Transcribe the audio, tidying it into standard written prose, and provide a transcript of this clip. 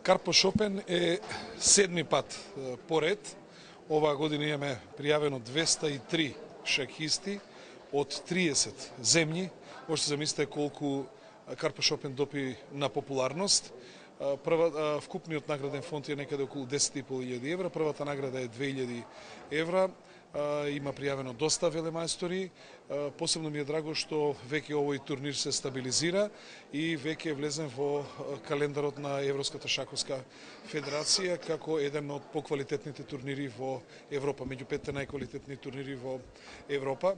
Карпош Опен е седми пат поред. Оваа година имаме пријавено 203 шахисти од 30 земји. Можете замислите колку Карпош Опен допи на популарност. Вкупниот награден фонд е некаде околу 10.500 евра. Првата награда е 2000 евра. Има пријавено доста велемајстори. Посебно ми е драго што веќе овој турнир се стабилизира и веќе е влезен во календарот на Европската шаковска федерација како еден од поквалитетните турнири во Европа, меѓу 5 најквалитетни турнири во Европа.